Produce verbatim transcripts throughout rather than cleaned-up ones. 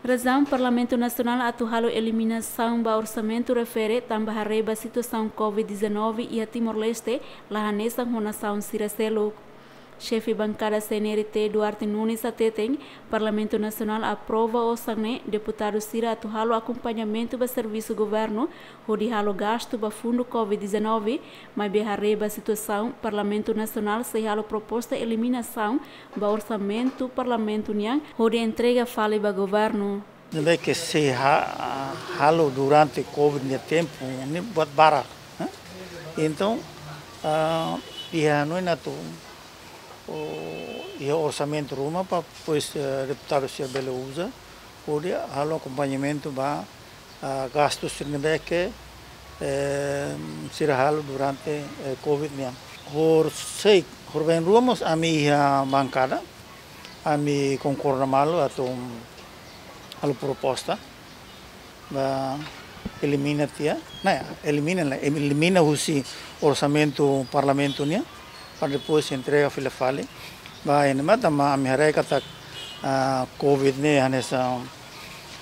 Razaun Parlamentu Nasionál atu halo eliminasaun ba orsamentu refere tanba haree ba situasaun covid dezanove iha Timor-Leste la hanesan ho nasaun sira seluk. Xefe Bankada C N R T Duarte Nunes hateten, Parlamentu Nasionál aprova osan ne'e, deputadu sira atu halo akompañamentu ba servisu governu hodi halo gastu ba fundu covid dezanove, maibé haree ba situasaun, Parlamentu Nasionál sei halo proposta eliminasaun ba orsamentu Parlamentu nian hodi entrega fali ba governu. Ne'ebé ke sei ha-, halo durante covid nia tempu ne'e buat barak, eh? Entaun, ah, iha hanoin atu, o, iha orsamentu ruma para depois, eh, deputadu sira bele uza hodi halo akompañamentu ba, ah, gastu sira ne'ebé ke, eh, sira halo durante, eh, covid nian. Horiseik, horibainrua mós ami iha bankada, ami konkorda malu atu halo proposta ba elimina tiha, ne'e, elimina la, elimina husi orsamentu Parlamentu nian, para depois entrega fila fali ba ene mata, maibé ami haree katak, ah, covid ne'e hanesan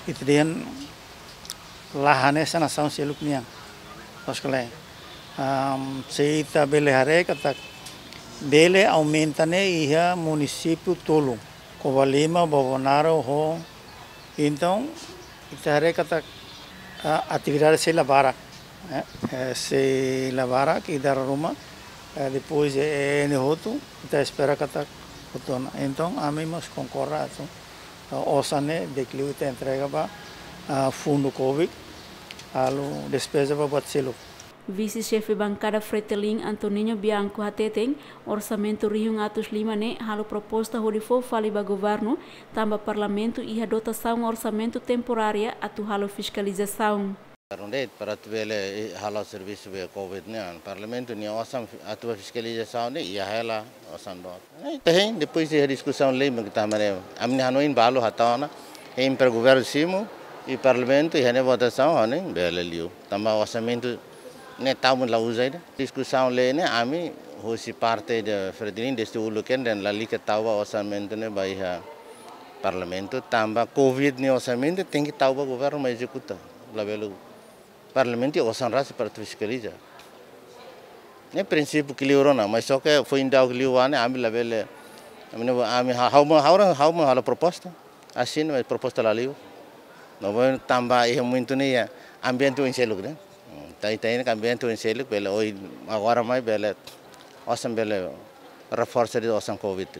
ita dehan la hanesan nasaun seluk nian. Loos ka lae, am, se ita bele haree katak bele aumenta ne'e iha munisípiu tolu, Covalima, Bobonaro ho. Entaun, ita haree katak, ah, atividade sei la barak, eh, eh, sei la barak, i dala ruma, eh, depois, eh, ene hotu, ita espera katak hotu ona. Entaun, ami mós konkorda atu, ah, osan ne'e di'ak liu ita entrega ba, ah, fundu covid, halo despeza ba buat seluk. Vise-Xefe Bankada Fretilin Antoninho Bianco hateten, orsamentu rihun atus lima ne'e halo proposta hodi fó fali ba governu, tanba Parlamentu iha dotasaun orsamentu temporária atu halo fiskalizasaun. Governu de'it para atu bele, eh, halo servisu ba covid ne'e, Parlamentu nia osan fi-, atu ba fiskalizasaun ne'e iha hela osan dook. Eh, ita hein, depois iha diskusaun lei mak ita hamare. Ami-nia hanoin balu hatán ona, hein para governu simu, i Parlamentu iha nia votasaun, hanoin bele liu. Tanba orsamentu ne'e tau mak la uza ida. Diskusaun lei ne'e ami husi parte de Fretilin dezde uluk kedas lalika tau ba orsamentu ne'e ba iha Parlamentu, tanba covid nia orsamentu tenke tau ba governu mak ezekuta. Labele Parlamentu osan rasik para atu fiskaliza. Ne'e prinsípiu ke liu rona, mas só ke foin daudauk liu ne'e ami labele, ami ne'e, ami ha-, ha'u mak, ha'u mak, ha'u mak halo proposta. Asina, mas proposta la liu. No vou tanba iha momentu ne'e iha ambiente oin seluk, ne'e. Hmm, ita, ita hein katak ambiente oin seluk, bele oin agora mai bele, osan bele reforsa de'it osan covid.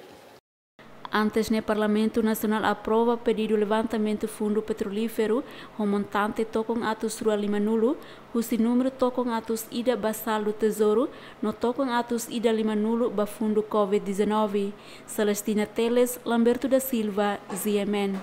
Antes ne'e Parlamentu Nasionál aprova pedidu levantamentu fundu petrolíferu ho montante tokon atus rua lima-nulu, husi númeru tokon atus ida ba saldu tezouru, no tokon atus ida lima-nulu ba fundu covid dezanove. Celestina Teles, Lamberto da Silva, Z M N.